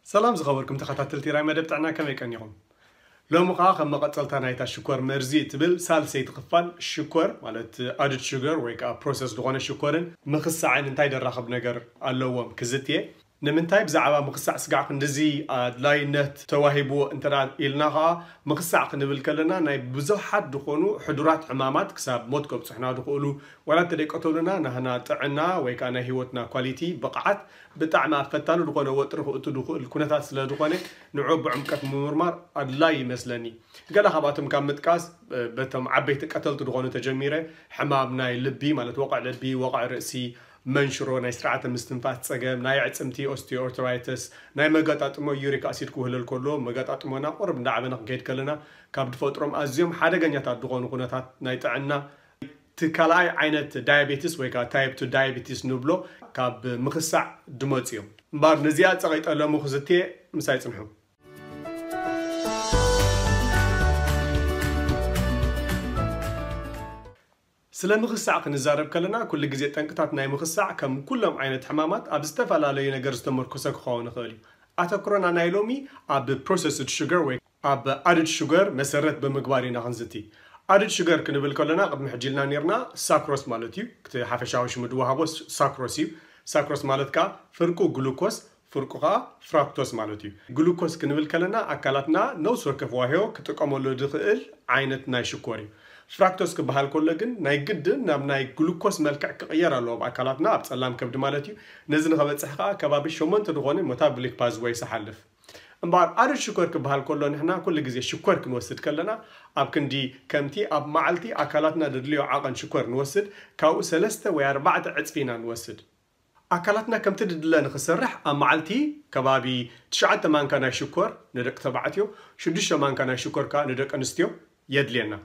ሰላም ዝኸበርኩም ተኸታተልቲ ራይ መደብ ጥዕና፣ ከመይ ቀኒኹም? ሎሚ ኸዓ ከም መቐጸልታ ናይታ ሽኮር መርዚ እትብል ሳልሰይቲ ክፋል፣ ሽኮር ማለት ኣድድ ሽገር ወይ ከዓ ፕሮሰስ ዝኾነ ሽኮርን ምኽሳዕን እንታይ ደራኸብ ነገር ኣለዎም ክዝትየ። ንምንታይ ብዛዕባ ምኽሳዕ ስጋዕ ክንድዚ ኣድላይነት ተዋሂብዎ እንተ ኢልና ኸዓ፣ ምኽሳዕ ክንብል ከለና ናይ ብዙሓት ዝኾኑ ሕዱራት ሕማማት ክሳብ ሞት ከብጽሑና ዝኽእሉ፣ ዋላ እንተ ደይቀተሉና ናህና ጥዕና ወይ ከዓ ናይ ህይወትና ኳሊቲ ብቕዓት ብጣዕሚ ኣብ ፈታኒ ዝኾነ ወጥሪ ክእቱ ዝኽእል ኩነታት ስለ ዝኾነ፣ ንዑ ብዕምቀት ምምርማር ኣድላይ ይመስለኒ። ገለ ካብኣቶም ካብ ምጥቃስ፣ በቶም ዓበይቲ ቀተልቲ ዝኾኑ ተጀሚረ፣ ሕማም ናይ ልቢ ማለት ወቕዕ ልቢ፣ ወቕዕ ርእሲ፣ መንሽሮ፣ ናይ ስርዓተ ምስትንፋስ ጸገም፣ ናይ ኣዕጽምቲ ኦስቲኦርትራይተስ፣ ናይ መገጣጥሞ ዩሪክ ኣሲድ ክውህለል ከሎ መገጣጥሞና ቁርብ እንዳዓበና ክንከይድ ከለና ካብ ዝፈጥሮም ኣዝዮም ሓደገኛታት ዝኾኑ ኩነታት ናይ ጥዕና እቲ ካልኣይ ዓይነት ዳያቤቲስ ወይ ከዓ ታይፕ ቱ ዳያቤቲስ ንብሎ ካብ ምኽሳዕ ድመፁ እዮም። እምበኣር ነዚኣ ፀቒጠ ሎሚ ክዝትየ ምሳይ ፅንሑ። ስለ ምኽሳዕ ክንዛረብ ከለና ኩሉ ግዜ ጠንቅታት ናይ ምኽሳዕ ከም ኩሎም ዓይነት ሕማማት ኣብ ዝተፈላለዩ ነገር ዝተመርኮሰ ክኸውን ይኽእል እዩ። ኣተኩሮና ናይ ሎሚ ኣብ ፕሮሰስድ ሹገር ወይ ኣብ ኣድድ ሹገር መሰረት ብምግባር ኢና ክንዝቲ። ኣድድ ሹገር ክንብል ከለና ቅድሚ ሕጂ ኢልና ነርና ሳክሮስ ማለት እዩ። እቲ ሓፈሻዊ ሽሙ ድወሃቦ ሳክሮስ እዩ። ሳክሮስ ማለት ከዓ ፍርቁ ግሉኮስ ፍርቁ ከዓ ፍራክቶስ ማለት እዩ። ግሉኮስ ክንብል ከለና ኣካላትና ነውስ ወከፍ ዋህዮ ክጥቀመሉ ዝኽእል ዓይነት ናይ ሽኮር እዩ። ፍራክቶስ ክበሃል ከሎ ግን ናይ ግድን ናብ ናይ ግሉኮስ መልክዕ ክቕየር ኣለዎ ኣብ ኣካላትና፣ ኣብ ጸላም ከብዲ ማለት እዩ። ነዚ ንኸበጽሕ ከዓ ከባቢ ሸሞንተ ዝኾነ ሞታብሊክ ፓዝወይስ ይሓልፍ። እምበኣር ኣድድ ሽኮር ክበሃል ከሎ ንሕና ኩሉ ግዜ ሽኮር ክንወስድ ከለና ኣብ ክንዲ ከምቲ ኣብ መዓልቲ ኣካላትና ድድልዮ ዓቐን ሽኮር ንወስድ ካብኡ ሰለስተ ወይ ኣርባዕተ ዕጽፊ ኢና ንወስድ። ኣካላትና ከምቲ ድድለ ንኽሰርሕ ኣብ መዓልቲ ከባቢ ትሽዓተ ማንካ ናይ ሽኮር ንደቂ ተባዕትዮ፣ ሽዱሽተ ማንካ ናይ ሽኮር ከዓ ንደቂ ኣንስትዮ የድልየና።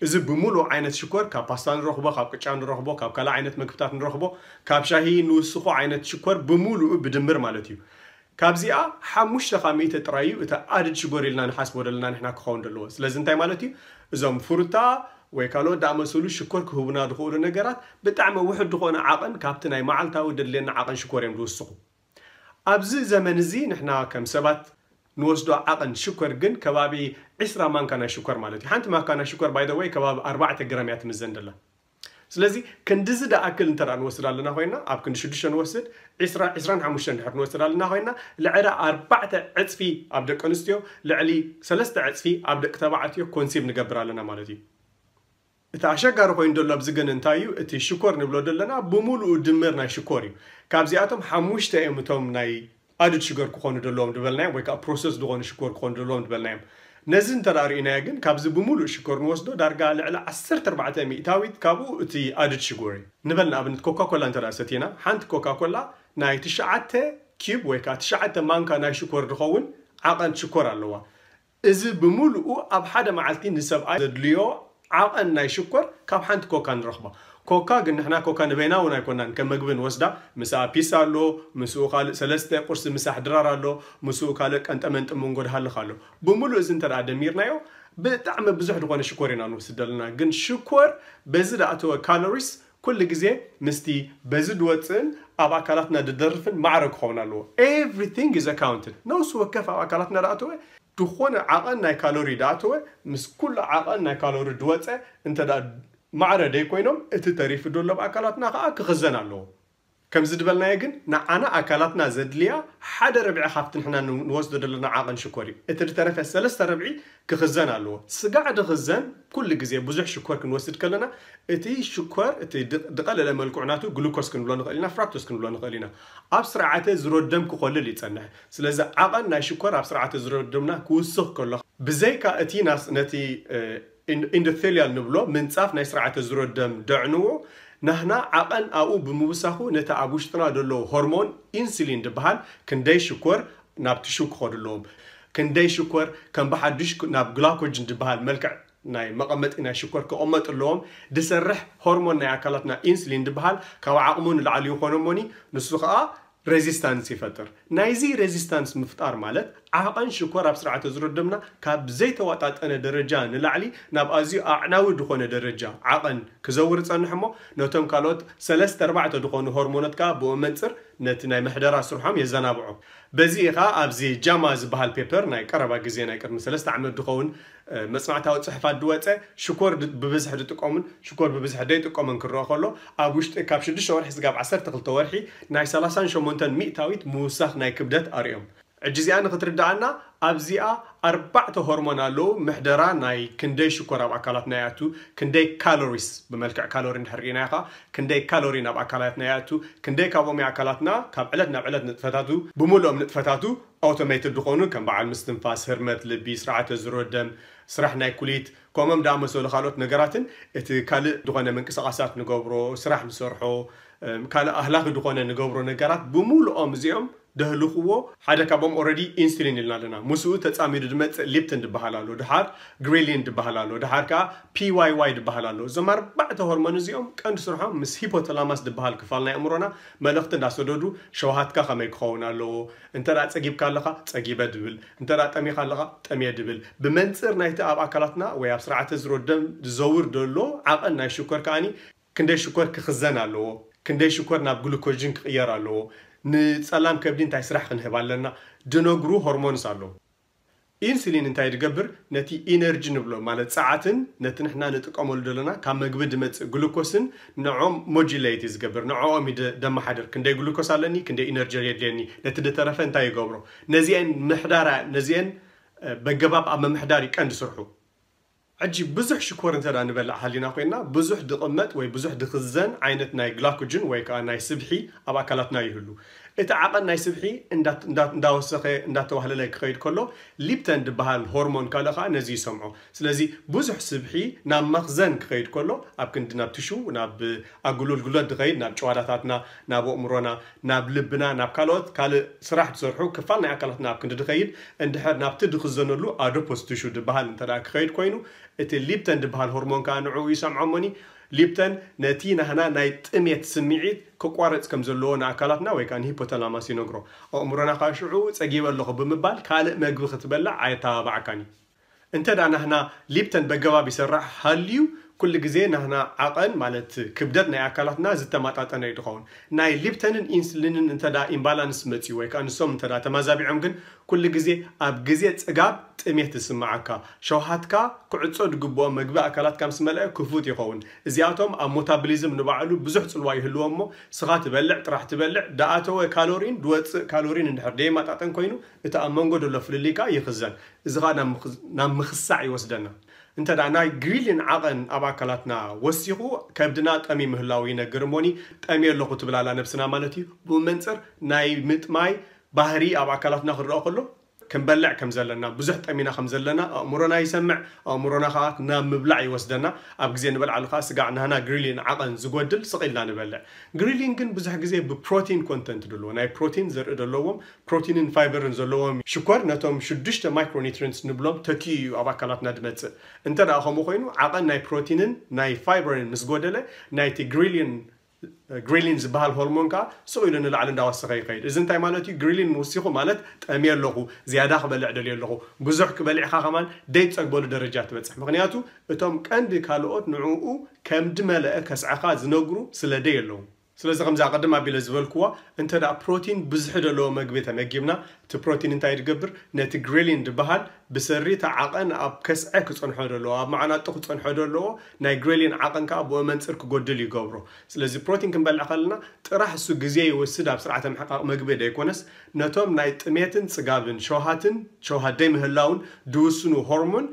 እዚ ብምሉእ ዓይነት ሽኮር ካብ ፓስታ ንረኽቦ፣ ካብ ቅጫ ንረኽቦ፣ ካብ ካልእ ዓይነት ምግብታት ንረኽቦ፣ ካብ ሻሂ ንውስኾ ዓይነት ሽኮር ብምሉኡ ብድምር ማለት እዩ። ካብዚኣ ሓሙሽተ ካብ ሚእቲ ጥራይ እዩ እቲ ኣድድ ሽኮር ኢልና ንሓስቦ ዘለና ንሕና ክኸውን ዘለዎ። ስለዚ እንታይ ማለት እዩ? እዞም ፍሩታ ወይ ካልኦት ዝኣመሰሉ ሽኮር ክህቡና ዝኽእሉ ነገራት ብጣዕሚ ውሑድ ዝኾነ ዓቐን ካብቲ ናይ መዓልታዊ ደድልየና ዓቐን ሽኮር እዮም ዝውስኹ። ኣብዚ ዘመን እዚ ንሕና ከም ሰባት ንወስዶ ዓቐን ሽኮር ግን ከባቢ ዕስራ ማንካ ናይ ሽኮር ማለት እዩ። ሓንቲ ማንካ ናይ ሽኮር ባይ ዘ ወይ ከባቢ ኣርባዕተ ግራም እያ ትምዘን ዘላ። ስለዚ ክንድዚ ደኣክል እንተ ደኣ ንወስድ ኣለና ኮይና፣ ኣብ ክንዲ ሽዱሽተ ንወስድ፣ ዕስራ፣ ዕስራን ሓሙሽተን ድሕር ንወስድ ኣለና ኮይና፣ ልዕሊ ኣርባዕተ ዕጽፊ ኣብ ደቂ ኣንስትዮ፣ ልዕሊ ሰለስተ ዕጽፊ ኣብ ደቂ ተባዕትዮ ኮንሲቭ ንገብር ኣለና ማለት እዩ። እቲ ኣሸጋሪ ኮይኑ ዘሎ ኣብዚ ግን እንታይ እዩ? እቲ ሽኮር ንብሎ ዘለና ብምሉኡ ድምር ናይ ሽኮር እዩ። ካብዚኣቶም ሓሙሽተ እዮም እቶም ናይ ኣድድ ሽገር ክኾኑ ዘለዎም ዝበልናዮም ወይ ከዓ ፕሮሰስ ዝኾኑ ሽኮር ክኾኑ ዘለዎም ዝበልናዮም። ነዚ እንተ ደኣ ርኢናዮ ግን ካብዚ ብምሉእ ሽኮር ንወስዶ ዳርጋ ልዕሊ ዓሰርተ ኣርባዕተ ሚእታዊት ካብኡ እቲ ኣድድ ሽጎር እዩ። ንበል ንኣብነት ኮካ ኮላ እንተ ደኣ ሰቲና ሓንቲ ኮካ ኮላ ናይ ትሽዓተ ኪዩብ ወይ ከዓ ትሽዓተ ማንካ ናይ ሽኮር ዝኸውን ዓቐን ሽኮር ኣለዋ። እዚ ብምሉኡ ኣብ ሓደ መዓልቲ ንሰብኣይ ዘድልዮ ዓቐን ናይ ሽኮር ካብ ሓንቲ ኮካ ንረኽባ። ኮካ ግን ንሕና ኮካ ንበይና እውን ኣይኮናን ከም መግቢ ንወስዳ። ምስኣ ፒሳ ኣሎ፣ ምስኡ ካልእ ሰለስተ ቁርሲ ምሳሕ ድራር ኣሎ፣ ምስኡ ካልእ ቀንጠመንጢ መንጎ ድሃልኽ ኣሎ። ብምሉእ እዚ እንተ ደኣ ደሚርናዮ ብጣዕሚ ብዙሕ ዝኾነ ሽኮር ኢና ንወስድ ዘለና። ግን ሽኮር በዚ ደኣተወ ካሎሪስ ኩሉ ግዜ ምስቲ በዚ ድወፅእን ኣብ ኣካላትና ድደርፍን ማዕረ ክኸውን ኣለዎ። Everything is accounted። ነውሲ ወከፍ ኣብ ኣካላትና ደኣተወ ዝኾነ ዓቐን ናይ ካሎሪ ደኣተወ ምስ ኩሉ ዓቐን ናይ ካሎሪ ድወፀ እንተ ደኣ ማዕረ ደይኮይኖም እቲ ተሪፉ ዘሎ ኣብ ኣካላትና ከዓ ክኽዘን ኣለዎ። ከምዚ ድበልናዮ ግን ንዓና ኣካላትና ዘድልያ ሓደ ርብዒ ካብቲ ንሕና ንወስዶ ዘለና ዓቐን ሽኮር እዩ። እቲ ድተረፈ ሰለስተ ርብዒ ክኽዘን ኣለዎ። ስጋዕ ድኽዘን ኩሉ ግዜ ብዙሕ ሽኮር ክንወስድ ከለና እቲ ሽኮር እቲ ድቐለለ መልክዑ ናቱ ግሉኮስ ክንብሎ ንኽእል ኢና፣ ፍራክቶስ ክንብሎ ንኽእል ኢና። ኣብ ስርዓተ ዝሮደም ክኾልል ይጸንሕ። ስለዚ ዓቐን ናይ ሽኮር ኣብ ስርዓተ ዝሮደምና ክውስኽ ከሎ ብዘይካ እቲ ናስ ነቲ ኢንዶቴልያል ንብሎ ምንጻፍ ናይ ስርዓተ ዝሮደም ደዕንዎ ናህና ዓቐን ኣብኡ ብምውሳኹ ነቲ ኣብ ውሽጥና ዘሎ ሆርሞን ኢንሱሊን ድበሃል ክንደይ ሽኮር ናብ ትሹ ክኸዱ ኣለዎም፣ ክንደይ ሽኮር ከም ብሓዱሽ ናብ ግላኮጅን ድበሃል መልክዕ ናይ መቐመጢ ናይ ሽኮር ክቐመጡ ኣለዎም። ድሰርሕ ሆርሞን ናይ ኣካላትና ኢንሱሊን ድበሃል ካብ ዓቕሙ ንላዕሊ ይኾኖ እሞኒ ንሱ ከዓ ሬዚስታንስ ይፈጥር። ናይዚ ሬዚስታንስ ምፍጣር ማለት ዓቐን ሽኮር ኣብ ስርዓተ ዝሮ ደምና ካብ ዘይተዋጣጠነ ደረጃ ንላዕሊ ናብ ኣዝዩ ኣዕናዊ ዝኾነ ደረጃ ዓቐን ክዘውር ይጸንሕ እሞ፣ ነቶም ካልኦት ሰለስተ ኣርባዕተ ዝኾኑ ሆርሞናት ከኣ ብኡ መንጽር ነቲ ናይ ምሕደራ ስርሖም የዘናብዖ። በዚ ኢኻ ኣብዚ ጃማ ዝበሃል ፔፐር ናይ ቀረባ ግዜ ናይ ቅድሚ ሰለስተ ዓመት ዝኸውን መጽናዕታዊ ጽሑፋት ዝወጸ፣ ሽኮር ብብዝሒ ዝጥቀሙን ሽኮር ብብዝሒ ዘይጥቀሙን ክረአ ከሎ፣ ኣብ ውሽጢ ካብ ሽዱሽተ ወርሒ ስጋብ ዓሰርተ ክልተ ወርሒ ናይ ሰላሳን ሸሞንተን ሚእታዊት ምውሳኽ ናይ ክብደት ኣርእዮም። ሕጂ እዚኣ ንክትርድኣና ኣብዚኣ ኣርባዕተ ሆርሞን ኣለዉ። ምሕደራ ናይ ክንደይ ሽኮር ኣብ ኣካላትና ይኣቱ፣ ክንደይ ካሎሪስ ብመልክዕ ካሎሪ እንድሕር ርኢናዮ ከዓ ክንደይ ካሎሪ ናብ ኣካላትና ይኣቱ፣ ክንደይ ካብኦም ኣካላትና ካብ ዕለት ናብ ዕለት ንጥፈታቱ ብምሉኦም ንጥፈታቱ ኣውቶሜትድ ዝኾኑ ከም በዓል ምስትንፋስ፣ ህርመት ልቢ፣ ስርዓተ ዝሮ ደም፣ ስራሕ ናይ ኩሊት ከምኦም ዳኣመሰሉ ካልኦት ነገራትን እቲ ካልእ ዝኾነ ምንቅስቃሳት ንገብሮ ስራሕ ንሰርሖ ካልእ ኣህላኺ ዝኾነ ንገብሮ ነገራት ብምሉኦም እዚኦም ደህልኽዎ ሓደ ካብኦም ኦረዲ ኢንሱሊን ኢልና ኣለና። ምስኡ ተፃሚዱ ዝመፅእ ሊፕትን ዝበሃል ኣሎ፣ ድሓር ግሪሊን ዝበሃል ኣሎ፣ ድሓር ከዓ ፒዋይዋይ ዝበሃል ኣሎ። እዞም ኣርባዕተ ሆርሞን እዚኦም ቀንዲ ስርሖም ምስ ሂፖተላማስ ዝበሃል ክፋል ናይ ኣእምሮና መልእኽቲ እንዳሰደዱ ሸውሃትካ ከመይ ክኸውን ኣለዎ፣ እንተ ደኣ ጸጊብካ ኣለኻ ጸጊበ ድብል፣ እንተ ደኣ ጠሚኻ ኣለኻ ጠምየ ድብል። ብመንጽር ናይቲ ኣብ ኣካላትና ወይ ኣብ ስርዓተ ዝሮ ደም ዝዘውር ዘሎ ዓቐን ናይ ሽኮር ከኣኒ ክንደይ ሽኮር ክኽዘን ኣለዎ፣ ክንደይ ሽኮር ናብ ግሉኮጅን ክቕየር ኣለዎ፣ ንጸላም ከብዲ እንታይ ስራሕ ክንህብ ኣለና ድነግሩ ሆርሞንስ ኣለዉ። ኢንሱሊን እንታይ ዝገብር? ነቲ ኢነርጂ ንብሎ ማለት ጸዓትን ነቲ ንሕና ንጥቀመሉ ዘለና ካብ መግቢ ዝመጽእ ግሉኮስን ንዕኦም ሞጁሌት እዩ ዝገብር፣ ንዕኦም እዩ ደ- ደመሓድር። ክንደይ ግሉኮስ ኣለኒ፣ ክንደይ ኢነርጂ የድልየኒ፣ ነቲ ዝተረፈ እንታይ ይገብሮ? ነዚአን ምሕዳራ ነዚአን በገባብ ኣብ ምምሕዳር እዩ ቀንዲ ስርሑ። ሕጂ ብዙሕ ሽኮር እንተ ንበልዕ ሃሊና ኮይንና ብዙሕ ድቕመጥ ወይ ብዙሕ ድኽዘን ዓይነት ናይ ግላኮጅን ወይ ከዓ ናይ ስብሒ ኣብ ኣካላትና ይህሉ። እቲ ዓቐን ናይ ስብሒ እንዳወሰኸ እንዳተዋህለለ ክኸይድ ከሎ ሊፕተን ዝበሃል ሆርሞን ካልእ ከዓ ነዚ ይሰምዖ። ስለዚ ብዙሕ ስብሒ ናብ መኽዘን ክኸይድ ከሎ ኣብ ክንዲ ናብ ትሹ ናብ ኣጉሉልጉለት ዝኸይድ ናብ ጨዋዳታትና ናብ ኣእምሮና ናብ ልብና ናብ ካልኦት ካልእ ስራሕ ዝሰርሑ ክፋል ናይ ኣካላትና ኣብ ክንዲ ዝኸይድ እንድሕር ናብቲ ዝኽዘነሉ ኣዶፖስ ትሹ ዝበሃል እንተ ክኸይድ ኮይኑ እቲ ሊፕተን ዝበሃል ሆርሞን ከዓ ንዕኡ ይሰምዖ እሞኒ ሊፕተን ነቲ ናህና ናይ ጥሜት ስምዒት ክቋረፅ ከም ዘለዎ ንኣካላትና ወይ ከዓ ንሂፖተላማስ ይነግሮ። ኣእምሮና ከዓ ሽዑ ፀጊበ ኣለኹ ብምባል ካልእ መግቢ ክትበልዕ ኣየተባባዓካን እዩ። እንተ ደኣ ናህና ሊፕተን በገባብ ይሰርሕ ሃልዩ ኩሉ ግዜ ናህና ዓቐን ማለት ክብደት ናይ ኣካላትና ዝተመጣጠነ እዩ ዝኸውን። ናይ ሊፕተንን ኢንስሊንን እንተ ደኣ ኢምባላንስ መፅዩ ወይ ከዓ ንሶም እንተ ደኣ ተማዛቢዖም ግን ኩሉ ግዜ ኣብ ግዜ ጽጋብ ጥሜት ዝስምዓካ፣ ሸውሃትካ ክዕጾ ዝግብኦ መግቢ ኣካላትካ ምስ መልአ ክፉት ይኸውን። እዚኣቶም ኣብ ሞታብሊዝም ንባዕሉ ብዙሕ ጽልዋ ይህልዎ እሞ ስኻ ትበልዕ ጥራሕ ትበልዕ፣ ድኣተወ ካሎሪን ድወጽእ ካሎሪን እንድሕር ደየማጣጠን ኮይኑ እቲ ኣብ መንጎ ዘሎ ፍልልይ ከኣ ይኽዘን። እዚ ከኣ ናብ ምኽሳዕ ይወስደና። እንተ ደኣ ናይ ግሪሊን ዓቐን ኣብ ኣካላትና ወሲኹ ከብድና ጠምዩ ምህላዉ ይነግር እሞኒ ጠምየ ኣለኹ ትብል ኣላ ነብስና ማለት እዩ። ብኡ መንጽር ናይ ምጥማይ ባህሪ ኣብ ኣካላትና ክረኣ ከሎ ክንበልዕ ከም ዘለና ብዙሕ ጠሚና ከም ዘለና ኣእምሮና ይሰምዕ። ኣእምሮና ከዓ ናብ ምብላዕ ይወስደና። ኣብ ግዜ ንበልዓሉ ከዓ ስጋዕ ናህና ግሪሊን ዓቐን ዝጎድል ስቕ ኢልና ንበልዕ። ግሪሊን ግን ብዙሕ ግዜ ብፕሮቲን ኮንተንት ዘለዎ ናይ ፕሮቲን ዘርኢ ዘለዎም ፕሮቲንን ፋይበርን ዘለዎም ሽኮር ነቶም ሽዱሽተ ማይክሮኒትሪንትስ ንብሎም ተኪኡ እዩ ኣብ ኣካላትና ዝመፅእ። እንተ ደኣ ከምኡ ኮይኑ ዓቐን ናይ ፕሮቲንን ናይ ፋይበርን ምስ ጎደለ ናይቲ ግሪሊን ግሪሊን ዝበሃል ሆርሞን ከዓ ስቕ ኢሉ ንላዕሊ እንዳወሰኸ ይኸይድ። እዚ እንታይ ማለት እዩ? ግሪሊን ምውሲኹ ማለት ጠምየ ኣለኹ፣ ዝያዳ ክበልዕ ደልየ ኣለኹ፣ ብዙሕ ክበልዕኻ ከማን ደይትፀግበሉ ደረጃ ትበፅሕ። ምክንያቱ እቶም ቀንዲ ካልኦት ንዕኡ ከም ድመለአ ከስዐኻ ዝነግሩ ስለ ደይ ኣለዉ። ስለዚ ከምዚ ኣቐድም ኣቢለ ዝበልክዋ እንተ ደኣ ፕሮቲን ብዝሒ ዘለዎ መግቢ ተመጊብና እቲ ፕሮቲን እንታይ ድገብር? ነቲ ግሬሊን ድበሃል ብሰሪ እቲ ዓቐን ኣብ ከስዐ ክጸንሖ ደለዎ ኣብ መዓናጡ ክጸንሖ ደለዎ ናይ ግሬሊን ዓቐን ከኣ ብኡ መንጽር ክጎድል ይገብሮ። ስለዚ ፕሮቲን ክንበልዕ ከለና ጥራሕ እሱ ግዜ ይወስድ ኣብ ስርዓተ ምሕቃቕ መግቢ ደይኮነስ ነቶም ናይ ጥሜትን ጽጋብን ሸውሃትን ሸውሃት ደይምህላውን ድውስኑ ሆርሞን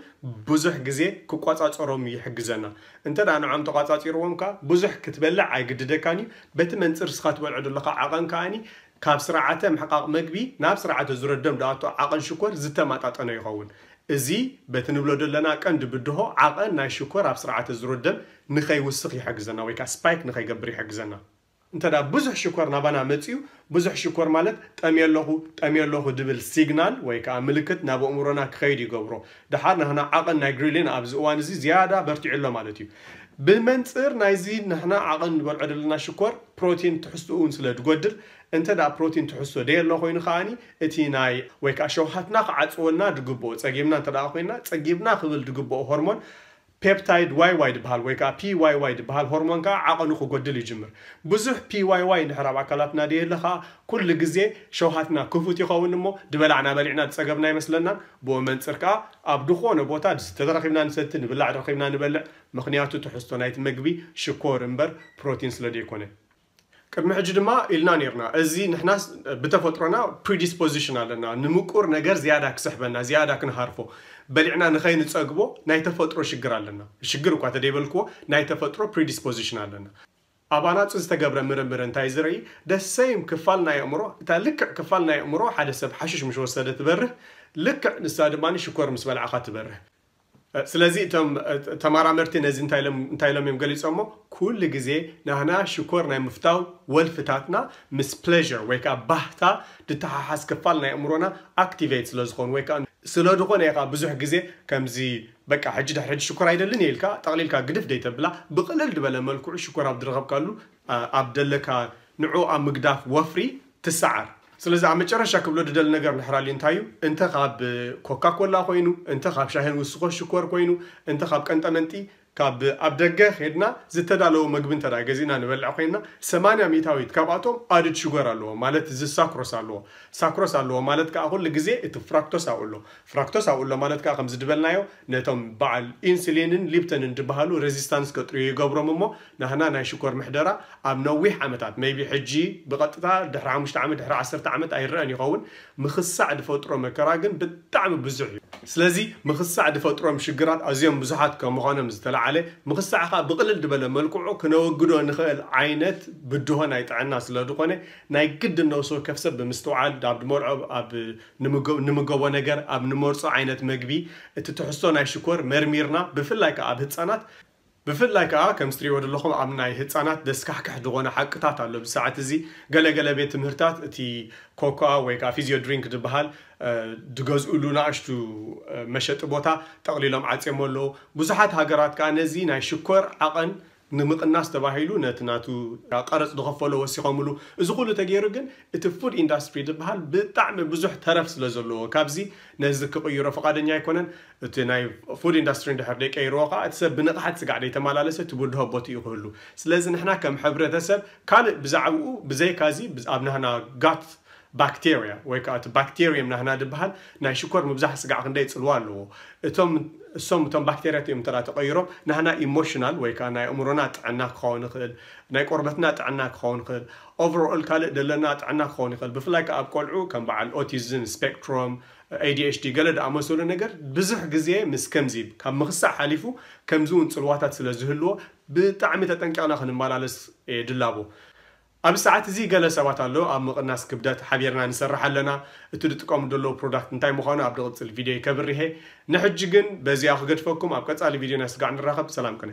ብዙሕ ግዜ ክቆጻጸሮም ይሕግዘና። እንተ ደኣ ንዖም ተቋጻጺርዎም ከኣ ብዙሕ ክትበልዕ ኣይግድደካን እዩ። በቲ መንጽር እስኻ ትበልዖ ዘለኻ ዓቐን ከኣኒ ካብ ስርዓተ ምሕቃቕ መግቢ ናብ ስርዓተ ዙረት ደም ዝኣቱ ዓቐን ሽኮር ዝተመጣጠነ ይኸውን። እዚ በቲ ንብሎ ዘለና ቀንዲ ብድሆ ዓቐን ናይ ሽኮር ኣብ ስርዓተ ዙረት ደም ንኸይውስኽ ይሕግዘና ወይ ከኣ ስፓይክ ንኸይገብር ይሕግዘና። እንተ ደኣ ብዙሕ ሽኮር ናባና መጺኡ፣ ብዙሕ ሽኮር ማለት ጠምየ ኣለኹ፣ ጠምየ ኣለኹ ድብል ሲግናል ወይ ከኣ ምልክት ናብ ኣእምሮና ክኸይድ ይገብሮ። ደሓር ናህና ዓቐን ናይ ግሪሊን ኣብዚ እዋን እዚ ዝያዳ በርቲዑ ኣሎ ማለት እዩ። ብመንጽር ናይዚ ንሕና ዓቐን ንበልዖ ዘለና ሽኮር ፕሮቲን ትሕዝትኡ እውን ስለ ዝጎድል እንተ ደኣ ፕሮቲን ትሕዝቶ ደየሎ ኮይኑ ከኣኒ እቲ ናይ ወይ ከዓ ሸውሃትና ክዓፅወልና ድግብኦ ጸጊብና እንተ ደኣ ኮይና ጸጊብና ክብል ድግብኦ ሆርሞን ፔፕታይድ ዋይ ዋይ ድበሃል ወይ ከዓ ፒ ዋይ ዋይ ድበሃል ሆርሞን ከዓ ዓቐኑ ክጎድል ይጅምር። ብዙሕ ፒ ዋይ ዋይ እንድሕር ኣብ ኣካላትና ደየለ ከዓ ኩሉ ግዜ ሸውሃትና ክፉት ይኸውን እሞ ድበላዕና በሊዕና ዝጸገብና ይመስለናን ብኡ መንፅር ከዓ ኣብ ድኾነ ቦታ ድስተ ተረኺብና ንሰቲ ንብላዕ ረኺብና ንበልዕ። ምኽንያቱ ትሕዝቶ ናይቲ መግቢ ሽኮር እምበር ፕሮቲን ስለ ደይኮነ። ቅድሚ ሕጂ ድማ ኢልና ነርና እዚ ንሕና ብተፈጥሮና ፕሪዲስፖዚሽን ኣለና ንምቁር ነገር ዝያዳ ክስሕበና ዝያዳ ክንሃርፎ በሊዕና ንኸይንፀግቦ ናይ ተፈጥሮ ሽግር ኣለና። ሽግር እኳ ተደይበልክዎ ናይ ተፈጥሮ ፕሪዲስፖዚሽን ኣለና። ኣብ ኣናፁ ዝተገብረ ምርምር እንታይ ዝርኢ ደሰይም ክፋል ናይ ኣእምሮ እታ ልክዕ ክፋል ናይ ኣእምሮ ሓደ ሰብ ሓሽሽ ምስ ወሰደ ትበርህ ልክዕ ንሳ ድማ ሽኮር ምስ በልዓኻ ትበርህ። ስለዚ እቶም ተመራመርቲ ነዚ እንታይ ኢሎም እዮም ገሊፆሞ? ኩሉ ግዜ ናህና ሽኮር ናይ ምፍታው ወልፍታትና ምስ ፕሌር ወይ ከዓ ባህታ ድተሓሓዝ ክፋል ናይ ኣእምሮና ኣክቲቬት ስለዝኾኑ ወይ ከዓ ስለድኾነ ኢኻ ብዙሕ ግዜ ከምዚ በቃ ሕጂ ድሕሪ ሕጂ ሽኮር ኣይደልን እየ ኢልካ ጠቕሊልካ ግድፍ ደይተብላ ብቕልል ድበለ መልክዑ ሽኮር ኣብ ድረኸብካሉ ኣብ ደለካ ንዑ ኣብ ምግዳፍ ወፍሪ ትሰዓር። ስለዚ ኣብ መጨረሻ ክብሎ ድደሊ ነገር ንሕራሊ እንታይ እዩ እንተ ካብ ኮካ ኮላ ኮይኑ እንተ ካብ ሻሂን ውስኮ ሽኮር ኮይኑ እንተ ካብ ቀንጠመንጢ ካብ ኣብ ደገ ሄድና ዝተዳለወ መግቢ እንተ ገዚእና ንበልዕ ኮይና ሰማንያ ሚእታዊት ካብኣቶም ኣድድ ሽጎር ኣለዎ ማለት እዚ ሳክሮስ ኣለዎ። ሳክሮስ ኣለዎ ማለት ከዓ ኩሉ ግዜ እቲ ፍራክቶስ ኣብኡ ኣሎ። ፍራክቶስ ኣብኡ ኣሎ ማለት ከዓ ከምዚ ድበልናዮ ነቶም በዓል ኢንሱሊንን ሊፕተንን ድበሃሉ ሬዚስታንስ ከጥርዩ ይገብሮም እሞ ናህና ናይ ሽኮር ምሕደራ ኣብ ነዊሕ ዓመታት maybe ሕጂ ብቐጥታ ድሕሪ ሓሙሽተ ዓመት ድሕሪ ዓሰርተ ዓመት ኣይረአን ይኸውን። ምኽሳዕ ድፈጥሮ መከራ ግን ብጣዕሚ ብዙሕ እዩ። ስለዚ ምኽሳዕ ድፈጥሮም ሽግራት ኣዝዮም ብዙሓት ከምዃኖም ዝተለዓለ ምኽሳዕ ከዓ ብቕልል ድበለ መልክዑ ክነወግዶ ንኽእል ዓይነት ብድሆ ናይ ጥዕና ስለ ዝኾነ ናይ ግድን ነብሲ ወከፍ ሰብ ብምስትውዓል ኣብ ድመርዖ ኣብ ንምገቦ ነገር ኣብ ንመርፆ ዓይነት መግቢ እቲ ትሕዝቶ ናይ ሽኮር መርሚርና ብፍላይ ከዓ ኣብ ህፃናት ብፍላይ ከዓ ከም ስትሪዎ ዘለኹም ኣብ ናይ ህፃናት ደስካሕክሕ ዝኾነ ሓቅታት ኣሎ ብሰዓት እዚ ገለገለ ቤት ትምህርታት እቲ ኮካ ወይ ከዓ ፊዚዮ ድሪንክ ዝበሃል ድገዝኡሉ ንኣሽቱ መሸጢ ቦታ ጠቕሊሎም ዓፅዮም ኣለዉ። ብዙሓት ሃገራት ከዓ ነዚ ናይ ሽኮር ዓቐን ንምቕናስ ተባሂሉ ነቲ ናቱ ቀረፅ ዝኸፈሎ ወሲኾምሉ። እዚ ኩሉ ተገይሩ ግን እቲ ፉድ ኢንዳስትሪ ዝበሃል ብጣዕሚ ብዙሕ ተረፍ ስለ ዘለዎ ካብዚ ነዚ ክቕይሮ ፍቓደኛ ኣይኮነን። እቲ ናይ ፉድ ኢንዳስትሪ እንድሕር ደይቀይርዎ ከዓ እቲ ሰብ ብንቕሓት ስጋዕ ደይተመላለሰ እቲ ብድሆ ቦትኡ ክህሉ። ስለዚ ንሕና ከም ሕብረተሰብ ካልእ ብዛዕባኡ ብዘይካዚ ኣብ ናህና ጋት ባክቴርያ ወይ ከዓ እቲ ባክቴርየም ናህና ዝበሃል ናይ ሽኮር ምብዛሕ ስጋዕ ክንደይ ፅልዋ ኣለዎ። እቶም እሶም እቶም ባክቴርያ እቲኦም እንተ ተቐይሮም ናህና ኢሞሽናል ወይ ከዓ ናይ ኣእምሮና ጥዕና ክኸውን ይኽእል፣ ናይ ቆርበትና ጥዕና ክኸውን ይኽእል፣ ኦቨርኦል ካልእ ዘለና ጥዕና ክኸውን ይኽእል። ብፍላይ ከዓ ኣብ ቆልዑ ከም በዓል ኦቲዝም ስፔክትሮም ኤዲኤችዲ ገለ ዝኣመሰሉ ነገር ብዙሕ ግዜ ምስ ከምዚ ካብ ምኽሳዕ ሓሊፉ ከምዚ እውን ፅልዋታት ስለ ዝህልዎ ብጣዕሚ ተጠንቂቕና ክንመላለስ ድላቦ። ኣብ ሰዓት እዚ ገለ ሰባት ኣለዉ ኣብ ምቕናስ ክብደት ሓቢርና ንሰርሕ ኣለና። እቲ ዝጥቀሙ ዘለዉ ፕሮዳክት እንታይ ምዃኑ ኣብ ዝቕፅል ቪድዮ ከብርሄ። ንሕጂ ግን በዚኣ ክገድፈኩም ኣብ ቀፃሊ ቪድዮ ናይ ስጋዕ ንራኸብ። ሰላም ቅነ።